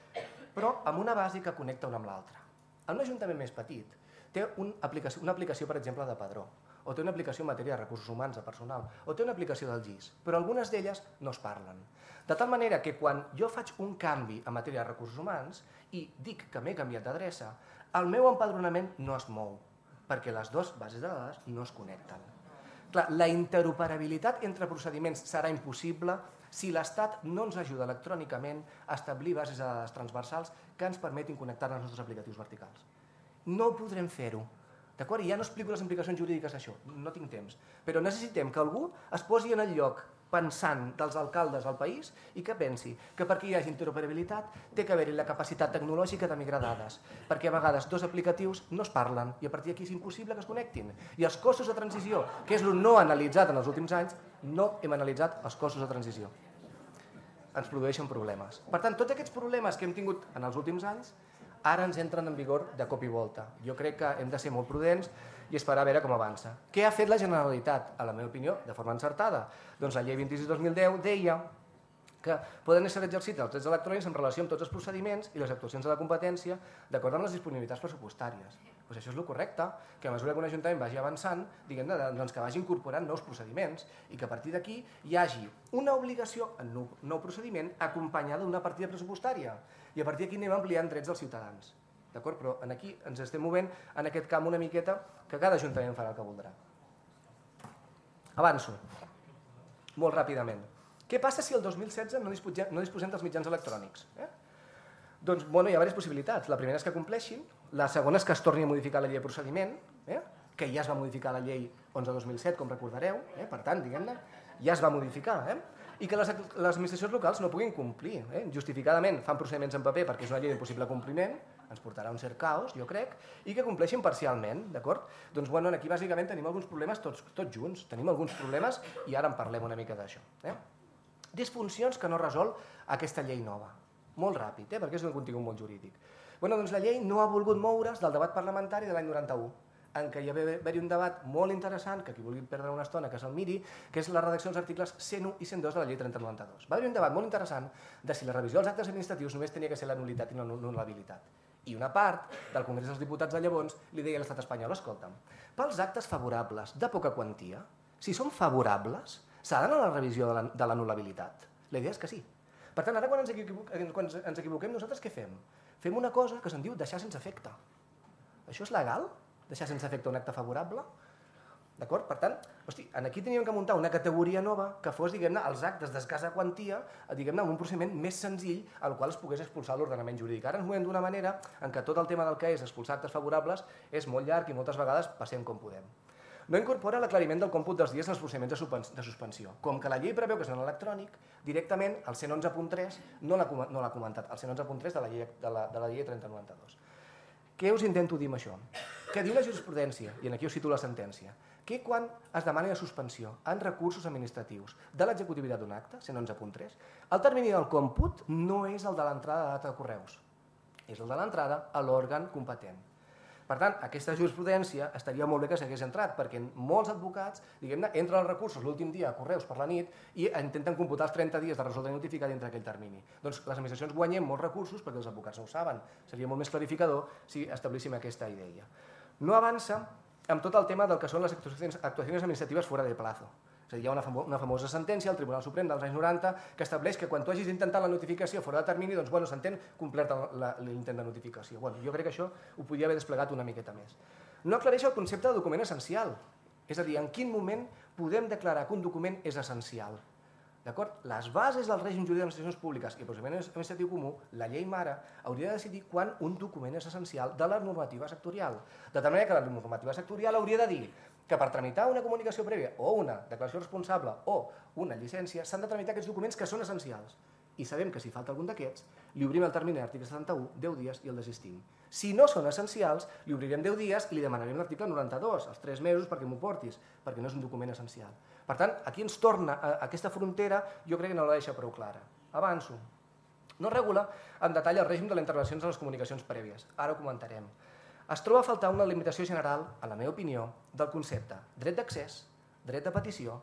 però amb una base que connecta una amb l'altra. En un ajuntament més petit té una aplicació, per exemple, de padró, o té una aplicació en matèria de recursos humans, de personal, o té una aplicació del GIS, però algunes d'elles no es parlen. De tal manera que quan jo faig un canvi en matèria de recursos humans i dic que m'he canviat d'adreça, el meu empadronament no es mou, perquè les dues bases de dades no es connecten. Clar, la interoperabilitat entre procediments serà impossible si l'Estat no ens ajuda electrònicament a establir bases de dades transversals que ens permetin connectar-nos als nostres aplicatius verticals. No podrem fer-ho. D'acord? I ja no explico les implicacions jurídiques d'això, no tinc temps. Però necessitem que algú es posi en el lloc pensant dels alcaldes al país i que pensi que perquè hi hagi interoperabilitat té que haver-hi la capacitat tecnològica de migrar dades, perquè a vegades dos aplicatius no es parlen i a partir d'aquí és impossible que es connectin. I els costos de transició, que és el no analitzat en els últims anys, no hem analitzat els costos de transició. Ens produeixen problemes. Per tant, tots aquests problemes que hem tingut en els últims anys ara ens entren en vigor de cop i volta. Jo crec que hem de ser molt prudents i esperar a veure com avança. Què ha fet la Generalitat? A la meva opinió, de forma encertada. Doncs la llei 26/2010 deia que poden ser exercits els drets electrònics en relació amb tots els procediments i les actuacions de la competència d'acord amb les disponibilitats pressupostàries. Doncs això és el correcte, que a mesura que un ajuntament vagi avançant, diguem-ne, doncs que vagi incorporant nous procediments i que a partir d'aquí hi hagi una obligació en un nou procediment acompanyada d'una partida pressupostària. I a partir d'aquí anem ampliant drets dels ciutadans. D'acord? Però aquí ens estem movent en aquest camp una miqueta que cada ajuntament farà el que voldrà. Avanço, molt ràpidament. Què passa si el 2016 no disposem dels mitjans electrònics? Doncs hi ha diverses possibilitats. La primera és que compleixin, la segona és que es torni a modificar la llei de procediment, que ja es va modificar la llei 11/2007, com recordareu, per tant, diguem-ne, ja es va modificar, i que les administracions locals no puguin complir. Justificadament fan procediments en paper perquè és una llei d'impossible compliment, ens portarà un cert caos, jo crec, i que compleixin parcialment, d'acord? Doncs aquí bàsicament tenim alguns problemes tots junts, tenim alguns problemes i ara en parlem una mica d'això. Disfuncions que no resol aquesta llei nova. Molt ràpid, perquè és un contingut molt jurídic. Doncs la llei no ha volgut moure's del debat parlamentari de l'any 91, en què hi va haver un debat molt interessant, que qui vulgui perdre una estona que se'l miri, que és la redacció dels articles 101 i 102 de la llei 3092. Va haver un debat molt interessant de si la revisió dels actes administratius només tenia que ser la nul·litat i no l'anul·labilitat. I una part del Congrés dels Diputats de llavors li deia a l'estat espanyol, escolta'm, pels actes favorables de poca quantia, si són favorables, s'ha d'anar a la revisió de l'anul·labilitat? La idea és que sí. Per tant, ara quan ens equivoquem, nosaltres què fem? Fem una cosa que se'n diu deixar sense efecte. Això és legal? Deixar sense efecte un acte favorable? D'acord? Per tant, aquí teníem que muntar una categoria nova que fos, diguem-ne, els actes d'escassa quantia, diguem-ne, amb un procediment més senzill al qual es pogués expulsar l'ordenament jurídic. Ara ens movem d'una manera en què tot el tema del que és expulsar actes favorables és molt llarg i moltes vegades passem com podem. No incorpora l'aclariment del còmput dels dies en els procediments de suspensió. Com que la llei preveu que és en electrònic, directament el 111.3 no l'ha comentat, el 111.3 de la llei 3092. Què us intento dir amb això? Que diu la jurisprudència, i aquí us cito la sentència, que quan es demani la suspensió en recursos administratius de l'executivitat d'un acte, 111.3, el termini del còmput no és el de l'entrada de data de correus, és el de l'entrada a l'òrgan competent. Per tant, aquesta jurisprudència estaria molt bé que s'hagués entrat, perquè molts advocats, diguem-ne, entren els recursos l'últim dia a correus per la nit i intenten computar els 30 dies de resoldre i notificar dintre aquell termini. Doncs les administracions guanyem molts recursos perquè els advocats no ho saben. Seria molt més clarificador si establíssim aquesta idea. No avança amb tot el tema del que són les actuacions administratives fora de plazo. És a dir, hi ha una famosa sentència al Tribunal Suprem dels anys 90 que estableix que quan tu hagis intentat la notificació fora de termini, doncs s'entén complert l'intent de notificació. Jo crec que això ho podia haver desplegat una miqueta més. No aclareix el concepte de document essencial, és a dir, en quin moment podem declarar que un document és essencial. Les bases del règim jurídic d'administracions públiques i el procediment administratiu comú, la llei mare, hauria de decidir quan un document és essencial de la normativa sectorial. De tal manera que la normativa sectorial hauria de dir que per tramitar una comunicació prèvia o una declaració responsable o una llicència s'han de tramitar aquests documents que són essencials. I sabem que si falta algun d'aquests, li obrim el termini de l'article 71, 10 dies i el desistim. Si no són essencials, li obrirem 10 dies i li demanarem l'article 92, els 3 mesos perquè m'ho portis, perquè no és un document essencial. Per tant, aquí ens torna aquesta frontera, jo crec que no la deixa prou clara. Avanço. No regula en detall el règim de les intervencions en les comunicacions prèvies. Ara ho comentarem. Es troba a faltar una limitació general, en la meva opinió, del concepte dret d'accés, dret de petició,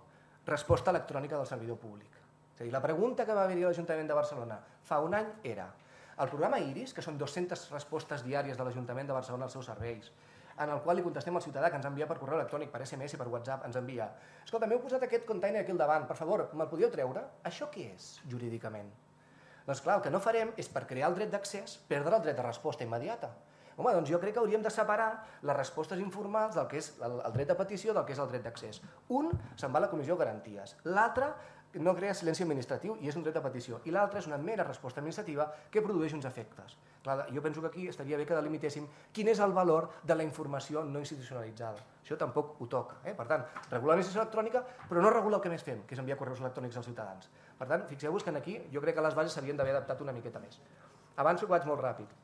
resposta electrònica del servidor públic. És a dir, la pregunta que va haver-hi a l'Ajuntament de Barcelona fa un any era el programa IRIS, que són 200 respostes diàries de l'Ajuntament de Barcelona als seus serveis, en el qual li contestem al ciutadà que ens envia per correu electrònic, per SMS, per WhatsApp, ens envia escolta, m'heu posat aquest container aquí al davant, per favor, me'l podíeu treure? Això què és, jurídicament? Doncs clar, el que no farem és per crear el dret d'accés perdre el dret de resposta immediata. Home, doncs jo crec que hauríem de separar les respostes informals del que és el dret de petició del que és el dret d'accés. Un se'n va a la Comissió de Garanties, l'altre no crea silenci administratiu i és un dret de petició, i l'altre és una mera resposta administrativa que produeix uns efectes. Clar, jo penso que aquí estaria bé que delimitéssim quin és el valor de la informació no institucionalitzada. Això tampoc ho toca. Per tant, regula l'administració electrònica, però no regula el que més fem, que és enviar correus electrònics als ciutadans. Per tant, fixeu-vos que aquí jo crec que les bases s'havien d'haver adaptat una miqueta més. Avanço que vaig molt ràpid.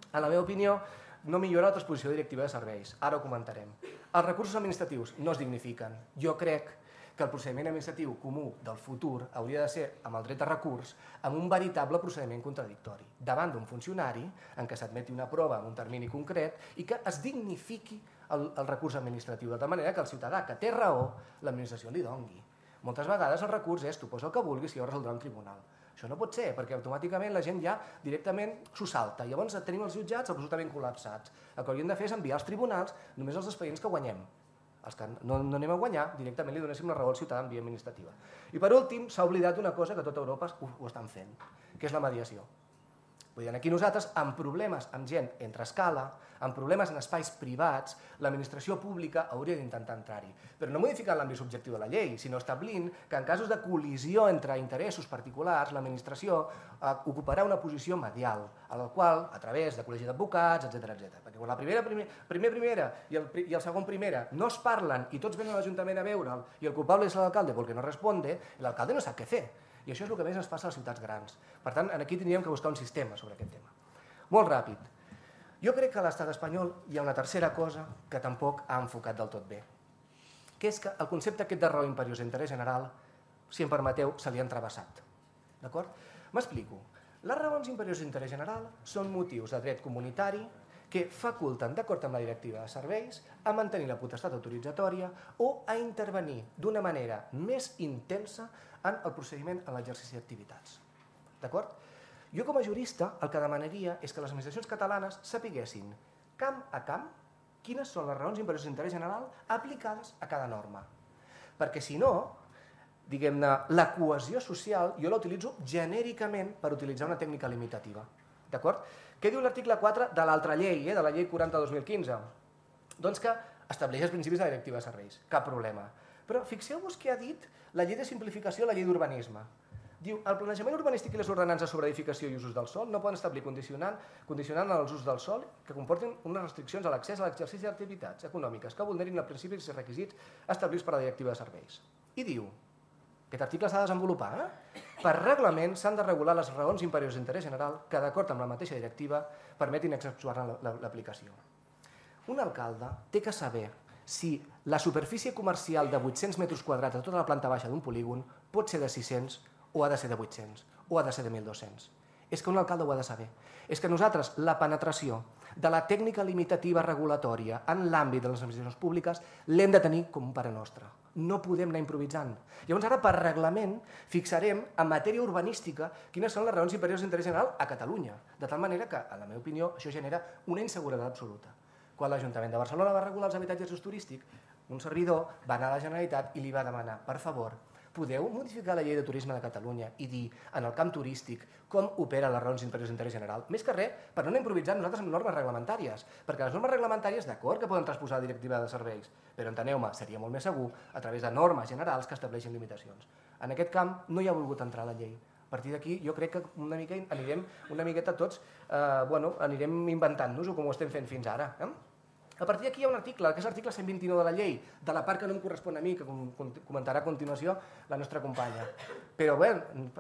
En la meva opinió, no millora la transposició directiva de serveis. Ara ho comentarem. Els recursos administratius no es dignifiquen. Jo crec que el procediment administratiu comú del futur hauria de ser, amb el dret de recurs, amb un veritable procediment contradictori, davant d'un funcionari en què s'admeti una prova en un termini concret i que es dignifiqui el recurs administratiu, de tal manera que el ciutadà que té raó, l'administració li dongui. Moltes vegades el recurs és tu posa el que vulguis i ho resoldrà un tribunal. Això no pot ser, perquè automàticament la gent ja directament s'ho salta. Llavors tenim els jutjats absolutament col·lapsats. El que hauríem de fer és enviar als tribunals només els expedients que guanyem. Els que no anem a guanyar, directament li donéssim la raó al ciutadà en via administrativa. I per últim, s'ha oblidat una cosa que a tota Europa ho estan fent, que és la mediació. Vull dir, aquí nosaltres, amb problemes amb gent entre escala, amb problemes en espais privats, l'administració pública hauria d'intentar entrar-hi. Però no modificant l'àmbit subjectiu de la llei, sinó establint que en casos de col·lisió entre interessos particulars, l'administració ocuparà una posició medial, a la qual, a través de col·legi d'advocats, etc. Perquè quan la primera i el segon primera no es parlen i tots venen a l'Ajuntament a veure'l i el culpable és l'alcalde perquè no responde, l'alcalde no sap què fer. I això és el que més ens passa a les ciutats grans. Per tant, aquí tindríem que buscar un sistema sobre aquest tema. Molt ràpid. Jo crec que a l'estat espanyol hi ha una tercera cosa que tampoc ha enfocat del tot bé, que és que el concepte aquest de raó imperiosa d'interès general, si em permeteu, se li ha entrevessat. D'acord? M'explico. Les raons imperioses d'interès general són motius de dret comunitari que faculten, d'acord amb la directiva de serveis, a mantenir la potestat autoritzatòria o a intervenir d'una manera més intensa en el procediment en l'exercici d'activitats. D'acord? Jo com a jurista el que demanaria és que les administracions catalanes sapiguessin camp a camp quines són les raons imperioses d'interès general aplicades a cada norma. Perquè si no, diguem-ne, la cohesió social jo la utilitzo genèricament per utilitzar una tècnica limitativa. D'acord? Què diu l'article 4 de l'altra llei, de la llei 40/2015? Doncs que estableix els principis de la directiva de serveis. Cap problema. Però fixeu-vos què ha dit la llei de simplificació, la llei d'urbanisme. Diu, el planejament urbanístic i les ordenances sobre edificació i usos del sòl no poden establir condicionant els usos del sòl que comportin unes restriccions a l'accés a l'exercici d'activitats econòmiques que vulnerin els principis i requisits establerts per la directiva de serveis. I diu, aquest article s'ha de desenvolupar, per reglament s'han de regular les raons imperioses d'interès general que, d'acord amb la mateixa directiva, permetin exceptuar-ne l'aplicació. Un alcalde té que saber si la superfície comercial de 800 metres quadrats a tota la planta baixa d'un polígon pot ser de 600 o ha de ser de 800 o ha de ser de 1.200. És que un alcalde ho ha de saber. És que nosaltres la penetració de la tècnica limitativa regulatòria en l'àmbit de les administracions públiques l'hem de tenir com un pare nostre. No podem anar improvisant. Llavors ara per reglament fixarem en matèria urbanística quines són les raons imperioses d'interès general a Catalunya. De tal manera que, en la meva opinió, això genera una inseguretat absoluta. Quan l'Ajuntament de Barcelona va regular els habitatges d'ús turístic, un servidor va anar a la Generalitat i li va demanar, per favor, podeu modificar la llei de turisme de Catalunya i dir, en el camp turístic, com opera les raons imperioses d'interès general? Més que res, per no anar improvisant nosaltres amb normes reglamentàries, perquè les normes reglamentàries, d'acord, que poden transposar la directiva de serveis, però enteneu-me, seria molt més segur a través de normes generals que estableixin limitacions. En aquest camp no hi ha volgut entrar la llei. A partir d'aquí jo crec que una miqueta tots anirem inventant-nos-ho com ho estem fent fins ara. A partir d'aquí hi ha un article, que és l'article 129 de la llei, de la part que no em correspon a mi, que comentarà a continuació la nostra companya. Però bé,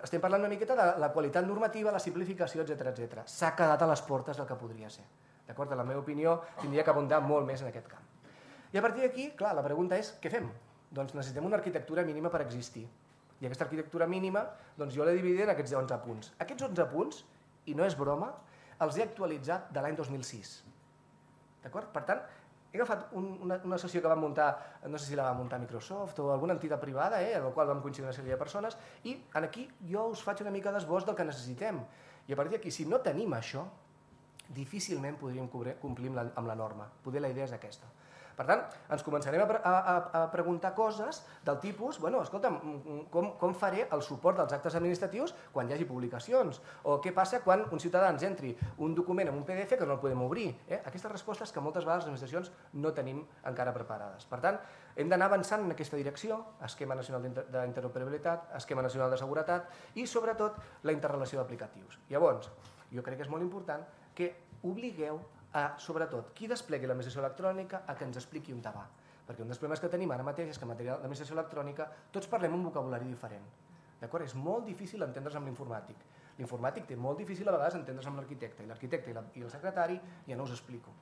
estem parlant una miqueta de la qualitat normativa, la simplificació, etc. S'ha quedat a les portes del que podria ser. D'acord? En la meva opinió, tindria que abundar molt més en aquest camp. I a partir d'aquí, clar, la pregunta és, què fem? Doncs necessitem una arquitectura mínima per existir. I aquesta arquitectura mínima, doncs jo l'he dividit en aquests 11 punts. Aquests 11 punts, i no és broma, els he actualitzat de l'any 2006. D'acord? Per tant, he agafat una sessió que vam muntar, no sé si la va muntar Microsoft o alguna entitat privada, en la qual vam coincidir una sèrie de persones, i aquí jo us faig una mica d'esbós del que necessitem. I a partir d'aquí, si no tenim això, difícilment podríem complir amb la norma. Poder la idea és aquesta. Per tant, ens començarem a preguntar coses del tipus, bueno, escolta'm, com faré el suport dels actes administratius quan hi hagi publicacions? O què passa quan un ciutadà ens entri un document en un PDF que no el podem obrir? Aquestes respostes que moltes vegades les administracions no tenim encara preparades. Per tant, hem d'anar avançant en aquesta direcció, esquema nacional d'interoperabilitat, esquema nacional de seguretat i, sobretot, la interrelació d'aplicatius. Llavors, jo crec que és molt important que obligueu sobretot, qui desplegui l'administració electrònica a que ens expliqui on va. Perquè un dels problemes que tenim ara mateix és que en matèria d'administració electrònica tots parlem un vocabulari diferent. D'acord? És molt difícil entendre's amb l'informàtic. L'informàtic té molt difícil a vegades entendre's amb l'arquitecte, i l'arquitecte i el secretari ja no us explico.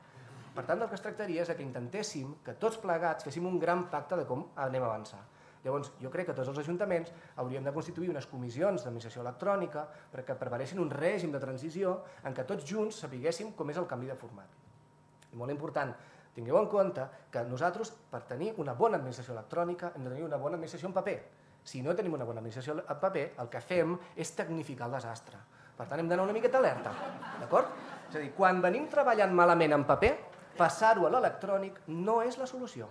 Per tant, del que es tractaria és que intentéssim que tots plegats féssim un gran pacte de com anem a avançar. Llavors, jo crec que tots els ajuntaments hauríem de constituir unes comissions d'administració electrònica perquè preparessin un règim de transició en què tots junts sapiguéssim com és el canvi de format. I molt important, tingueu en compte que nosaltres, per tenir una bona administració electrònica, hem de tenir una bona administració en paper. Si no tenim una bona administració en paper, el que fem és tecnificar el desastre. Per tant, hem d'anar una miqueta alerta, d'acord? És a dir, quan venim treballant malament en paper, passar-ho a l'electrònic no és la solució,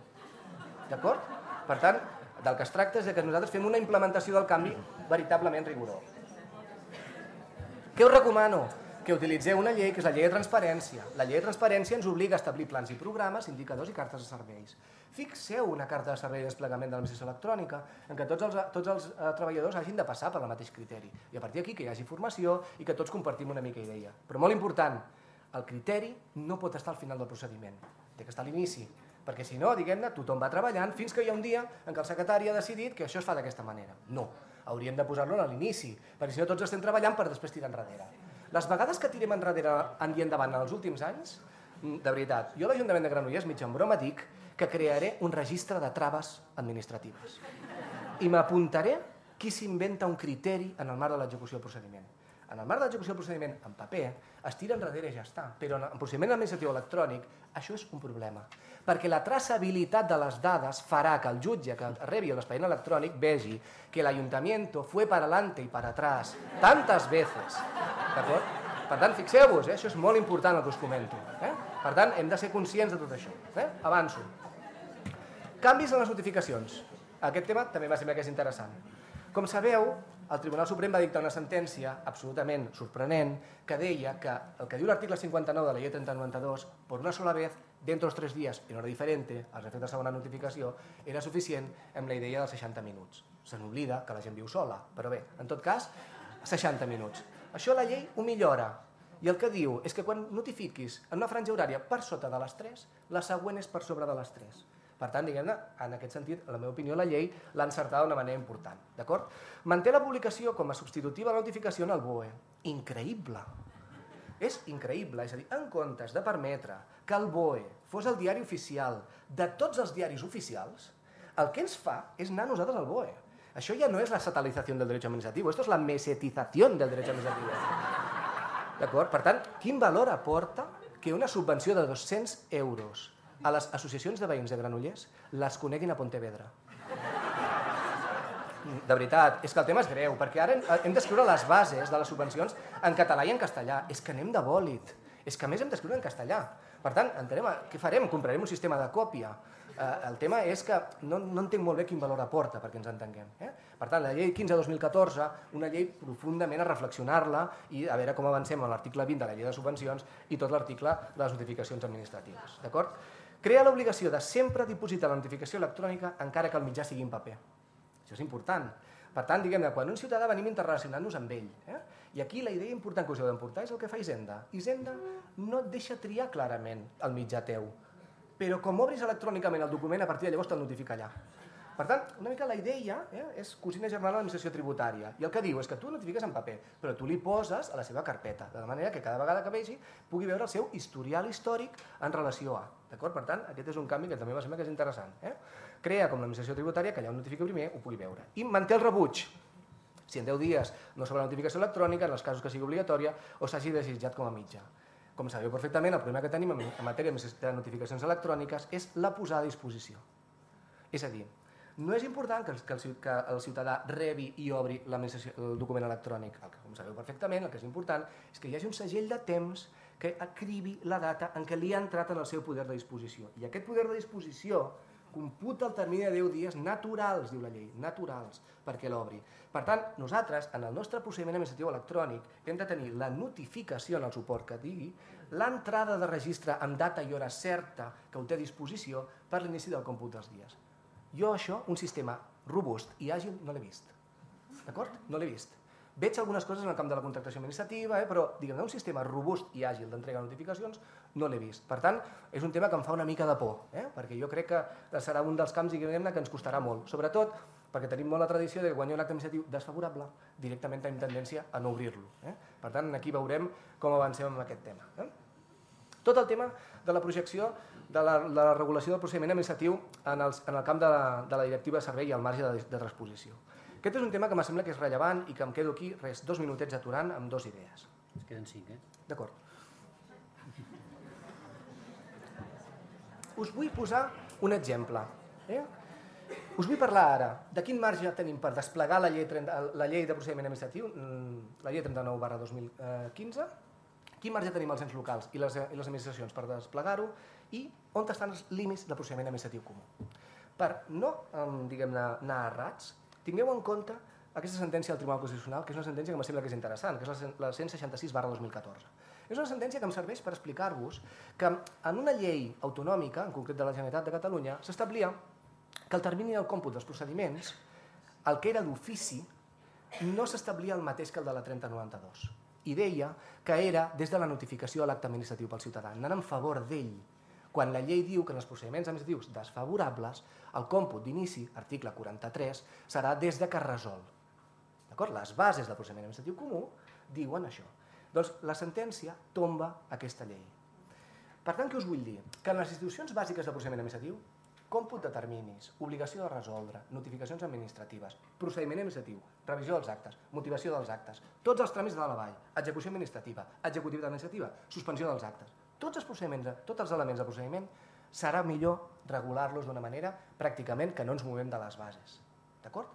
d'acord? Per tant, del que es tracta és que nosaltres fem una implementació del canvi veritablement rigorós. Què us recomano? Que utilitzeu una llei que és la llei de transparència. La llei de transparència ens obliga a establir plans i programes, indicadors i cartes de serveis. Fixeu una carta de servei de desplegament de l'administració electrònica en què tots els treballadors hagin de passar per el mateix criteri. I a partir d'aquí que hi hagi formació i que tots compartim una mica idea. Però molt important, el criteri no pot estar al final del procediment, té que estar a l'inici, perquè si no, diguem-ne, tothom va treballant fins que hi ha un dia en què el secretari ha decidit que això es fa d'aquesta manera. No, hauríem de posar-lo a l'inici, perquè si no tots estem treballant per després tirar enrere. Les vegades que tirem enrere i endavant en els últims anys, de veritat, jo a l'Ajuntament de Granollers, mig en broma, dic que crearé un registre de traves administratives i m'apuntaré qui s'inventa un criteri en el marc de l'execució del procediment. En el marc de l'execució del procediment en paper es tira enrere i ja està, però en procediment administratiu electrònic això és un problema, perquè la traçabilitat de les dades farà que el jutge que rebi l'expedient electrònic vegi que l'Ayuntamiento fue para adelante y para atrás tantas veces, d'acord? Per tant, fixeu-vos, això és molt important el que us comento. Per tant, hem de ser conscients de tot això. Avanço. Canvis en les notificacions. Aquest tema també va semblar que és interessant. Com sabeu, el Tribunal Suprem va dictar una sentència absolutament sorprenent que deia que el que diu l'article 59 de la llei 3092, por una sola vez, dentro de los 3 días, en hora diferente, als efectes de segona notificació, era suficient amb la idea dels 60 minuts. Se n'oblida que la gent viu sola, però bé, en tot cas, 60 minuts. Això la llei ho millora. I el que diu és que quan notifiquis en una franja horària per sota de les 3, la següent és per sobre de les 3. Per tant, diguem-ne, en aquest sentit, en la meva opinió, la llei l'ha encertada d'una manera important. D'acord? Manté la publicació com a substitutiva de la notificació en el BOE. Increïble. És increïble. És a dir, en comptes de permetre que el BOE fos el diari oficial de tots els diaris oficials, el que ens fa és anar nosaltres al BOE. Això ja no és la satelizació del dret administratiu, esto és la mesetizació del dret administratiu. D'acord? Per tant, quin valor aporta que una subvenció de 200 euros a les associacions de veïns de Granollers les coneguin a Pontevedra? De veritat, és que el tema és greu, perquè ara hem d'escriure les bases de les subvencions en català i en castellà. És que anem de bòlit. És que a més hem d'escriure en castellà. Per tant, què farem? Comprarem un sistema de còpia. El tema és que no entenc molt bé quin valor aporta perquè ens entenguem. Per tant, la llei 15-2014, una llei profundament a reflexionar-la i a veure com avancem en l'article 20 de la llei de subvencions i tot l'article de les notificacions administratives. D'acord? Crea l'obligació de sempre dipositar la notificació electrònica encara que el mitjà sigui en paper. Això és important. Per tant, diguem-ne, quan un ciutadà venim interrelacionant-nos amb ell, i aquí la idea important que us heu d'emportar és el que fa Hisenda. Hisenda no et deixa triar clarament el mitjà teu, però com obris electrònicament el document, a partir de llavors te'l notifica allà. Per tant, una mica la idea és cosina germana de l'administració tributària, i el que diu és que tu notifiques en paper, però tu li poses a la seva carpeta, de manera que cada vegada que vegi pugui veure el seu historial històric en relació a. D'acord? Per tant, aquest és un canvi que també va semblar que és interessant. Crea com l'administració tributària que allà on notifica primer ho pugui veure. I manté el rebuig. Si en 10 dies no s'obre la notificació electrònica, en els casos que sigui obligatòria o s'hagi desitjat com a mitjà. Com sabeu perfectament, el problema que tenim en matèria de notificacions electròniques és la posada a disposició. És a dir, no és important que el ciutadà rebi i obri el document electrònic. Com sabeu perfectament, el que és important és que hi hagi un segell de temps que acribi la data en què li ha entrat en el seu poder de disposició. I aquest poder de disposició computa el termini de 10 dies naturals, diu la llei, naturals, perquè l'obri. Per tant, nosaltres, en el nostre procediment administratiu electrònic, hem de tenir la notificació en el suport que digui, l'entrada de registre amb data i hora certa que ho té a disposició per l'inici del còmput dels dies. Jo això, un sistema robust i àgil, no l'he vist. D'acord? No l'he vist. Veig algunes coses en el camp de la contractació administrativa, però diguem-ne un sistema robust i àgil d'entrega de notificacions no l'he vist. Per tant, és un tema que em fa una mica de por, perquè jo crec que serà un dels camps que ens costarà molt. Sobretot perquè tenim molt la tradició de que quan hi ha un acte administratiu desfavorable, directament tenim tendència a no obrir-lo. Per tant, aquí veurem com avancem amb aquest tema. Tot el tema de la projecció de la regulació del procediment administratiu en el camp de la directiva de servei i el marge de transposició. Aquest és un tema que em sembla que és rellevant i que em quedo aquí, 2 minutets aturant amb 2 idees. Es queden 5, D'acord. Us vull posar un exemple. Us vull parlar ara de quin marge tenim per desplegar la llei de procediment administratiu, la llei 39/2015, quin marge tenim els ens locals i les administracions per desplegar-ho i on estan els límits del procediment administratiu comú. Per no, anar errats, tingueu en compte aquesta sentència del Tribunal Constitucional, que és una sentència que em sembla que és interessant, que és la 166/2014. És una sentència que em serveix per explicar-vos que en una llei autonòmica, en concret de la Generalitat de Catalunya, s'establia que el termini del còmput dels procediments, el que era d'ofici, no s'establia el mateix que el de la 3092. I deia que era des de la notificació de l'acte administratiu pel ciutadà, anant en favor d'ell. Quan la llei diu que en els procediments administratius desfavorables, el còmput d'inici, article 43, serà des de que es resol. D'acord? Les bases del procediment administratiu comú diuen això. Doncs la sentència tomba aquesta llei. Per tant, què us vull dir? Que en les institucions bàsiques del procediment administratiu, còmput de terminis, obligació de resoldre, notificacions administratives, procediment administratiu, revisió dels actes, motivació dels actes, tots els tràmits de dalt a baix, execució administrativa, executiva administrativa, suspensió dels actes, tots els procediments, tots els elements del procediment, serà millor regular-los d'una manera pràcticament que no ens movem de les bases. D'acord?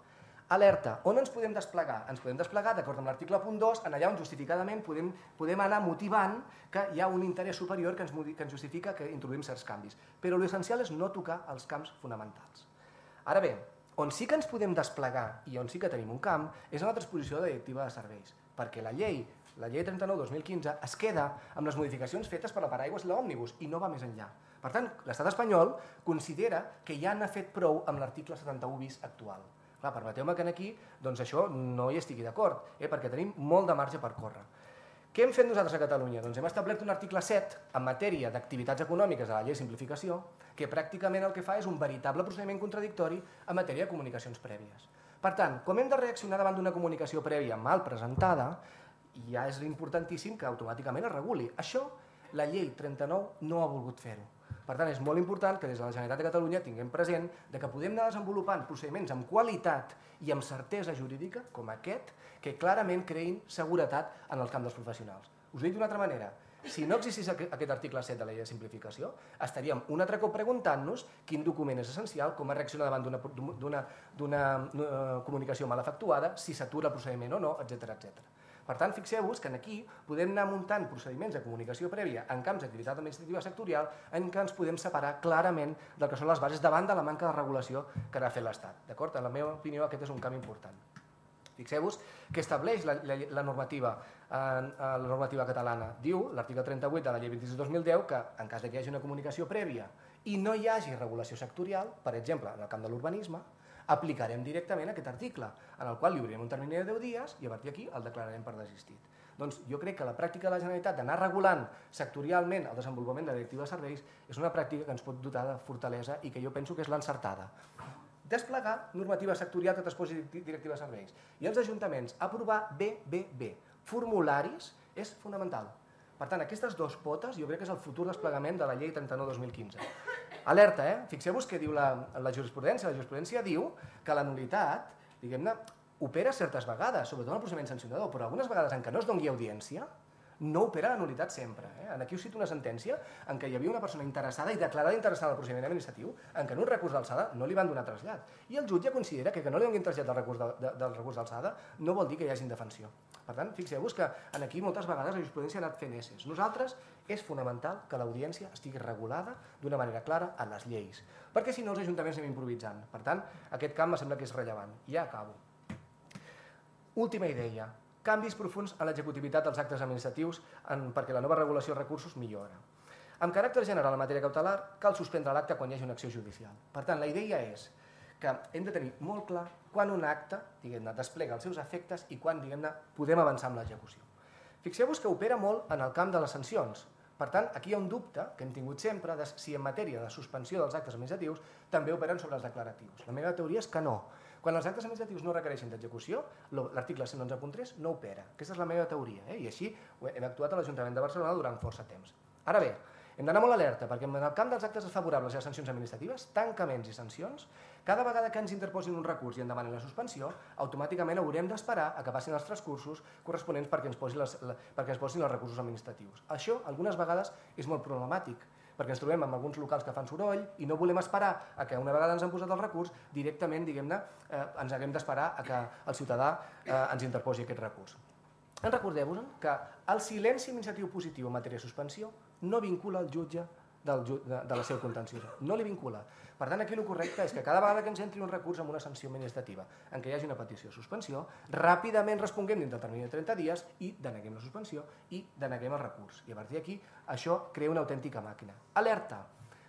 Alerta, on ens podem desplegar? Ens podem desplegar, d'acord amb l'article 2, en allà on justificadament podem anar motivant que hi ha un interès superior que ens justifica que introduïm certs canvis. Però l'essencial és no tocar els camps fonamentals. Ara bé, on sí que ens podem desplegar i on sí que tenim un camp és en la transposició de la directiva de serveis, perquè la llei 39/2015 es queda amb les modificacions fetes per la paraigües i l'òmnibus i no va més enllà. Per tant, l'estat espanyol considera que ja n'ha fet prou amb l'article 71 bis actual. Clar, permeteu-me que aquí això no hi estigui d'acord, perquè tenim molt de marge per córrer. Què hem fet nosaltres a Catalunya? Doncs hem establert un article 7 en matèria d'activitats econòmiques de la llei de simplificació que pràcticament el que fa és un veritable procediment contradictori en matèria de comunicacions prèvies. Per tant, com hem de reaccionar davant d'una comunicació prèvia mal presentada, ja és importantíssim que automàticament es reguli. Això la llei 39 no ha volgut fer-ho. Per tant, és molt important que des de la Generalitat de Catalunya tinguem present que podem anar desenvolupant procediments amb qualitat i amb certesa jurídica, com aquest, que clarament creïn seguretat en el camp dels professionals. Us ho dic d'una altra manera. Si no existís aquest article 7 de la llei de simplificació, estaríem un altre cop preguntant-nos quin document és essencial, com es reacciona davant d'una comunicació mal efectuada, si s'atura el procediment o no, etc. Per tant, fixeu-vos que aquí podem anar muntant procediments de comunicació prèvia en camps d'activitat administrativa sectorial en què ens podem separar clarament del que són les bases davant de la manca de regulació que ha fet l'Estat. D'acord? En la meva opinió, aquest és un camp important. Fixeu-vos que estableix la normativa catalana. Diu, l'article 38 de la llei 26/2010, que en cas que hi hagi una comunicació prèvia i no hi hagi regulació sectorial, per exemple, en el camp de l'urbanisme, aplicarem directament aquest article, en el qual li obrirem un termini de 10 dies i a partir d'aquí el declararem per desistit. Doncs jo crec que la pràctica de la Generalitat d'anar regulant sectorialment el desenvolupament de la directiva de serveis és una pràctica que ens pot dotar de fortalesa i que jo penso que és l'encertada. Desplegar normativa sectorial que transposi directiva de serveis. I els ajuntaments aprovar BBB, formularis, és fonamental. Per tant, aquestes dues potes jo crec que és el futur desplegament de la llei 39/2015. Alerta, fixeu-vos què diu la jurisprudència. La jurisprudència diu que la nul·litat, diguem-ne, opera certes vegades, sobretot en el procediment sancionador, però algunes vegades en què no es doni audiència, no opera la nul·litat sempre. Aquí us cito una sentència en què hi havia una persona interessada i declarada interessada en el procediment administratiu en què en un recurs d'alçada no li van donar trasllat. I el jutge considera que no li donin trasllat del recurs d'alçada no vol dir que hi hagi indefensió. Per tant, fixeu-vos que aquí moltes vegades la jurisprudència ha anat fent esses. Nosaltres és fonamental que l'audiència estigui regulada d'una manera clara a les lleis, perquè si no els ajuntaments anem improvisant. Per tant, aquest camp em sembla que és rellevant. Ja acabo. Última idea. Canvis profunds en l'executivitat dels actes administratius perquè la nova regulació de recursos millora. Amb caràcter general en matèria cautelar, cal suspendre l'acte quan hi hagi una acció judicial. Per tant, la idea és que hem de tenir molt clar quan un acte desplega els seus efectes i quan podem avançar amb l'execució. Fixeu-vos que opera molt en el camp de les sancions. Per tant, aquí hi ha un dubte que hem tingut sempre de si en matèria de suspensió dels actes administratius també operen sobre els declaratius. La meva teoria és que no. Quan els actes administratius no requereixen d'execució, l'article 111.3 no opera. Aquesta és la meva teoria, i així hem actuat a l'Ajuntament de Barcelona durant força temps. Ara bé, hem d'anar molt alerta, perquè en el camp dels actes desfavorables i les sancions administratives, tancaments i sancions, cada vegada que ens interposin un recurs i en demanin la suspensió, automàticament haurem d'esperar a que passin els transcursos corresponents perquè ens posin els recursos administrativis. Això, algunes vegades, és molt problemàtic, perquè ens trobem amb alguns locals que fan soroll i no volem esperar a que una vegada ens han posat el recurs, directament, ens haguem d'esperar a que el ciutadà ens interposi aquest recurs. Recordeu-vos que el silenci administratiu positiu en matèria de suspensió no vincula el jutge de la seu contenciosa, no li vincula. Per tant, aquí el correcte és que cada vegada que ens entri un recurs amb una sanció administrativa en què hi hagi una petició de suspensió, ràpidament responguem dins del termini de 30 dies i deneguem la suspensió i deneguem el recurs. I a partir d'aquí això crea una autèntica màquina. Alerta!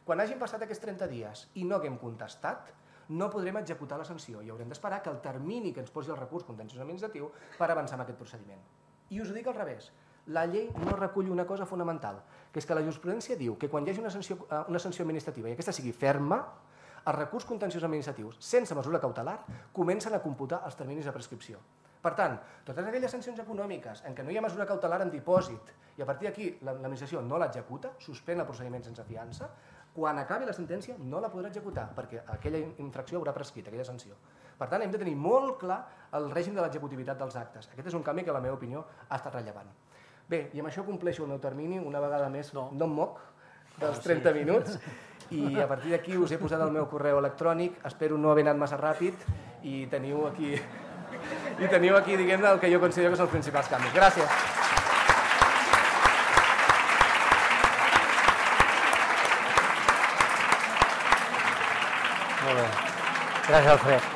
Quan hagin passat aquests 30 dies i no haguem contestat, no podrem executar la sanció i haurem d'esperar que el termini que ens posi el recurs contenciós administratiu per avançar en aquest procediment. I us ho dic al revés. La llei no recull una cosa fonamental, que és que la jurisprudència diu que quan hi hagi una sanció administrativa i aquesta sigui ferma, els recurs contenciosos administratius sense mesura cautelar comencen a computar els terminis de prescripció. Per tant, totes aquelles sancions econòmiques en què no hi ha mesura cautelar en dipòsit i a partir d'aquí l'administració no l'executa, suspèn el procediment sense fiança, quan acabi la sentència no la podrà executar perquè aquella infracció haurà prescrit, aquella sanció. Per tant, hem de tenir molt clar el règim de l'executivitat dels actes. Aquest és un canvi que, en la meva opinió, ha estat rellevant. Bé, i amb això compleixo el meu termini, una vegada més no em moc dels 30 minuts i a partir d'aquí us he posat el meu correu electrònic, espero no haver anat massa ràpid i teniu aquí, diguem-ne, el que jo considero que són els principals canvis. Gràcies. Molt bé. Gràcies, Alfred.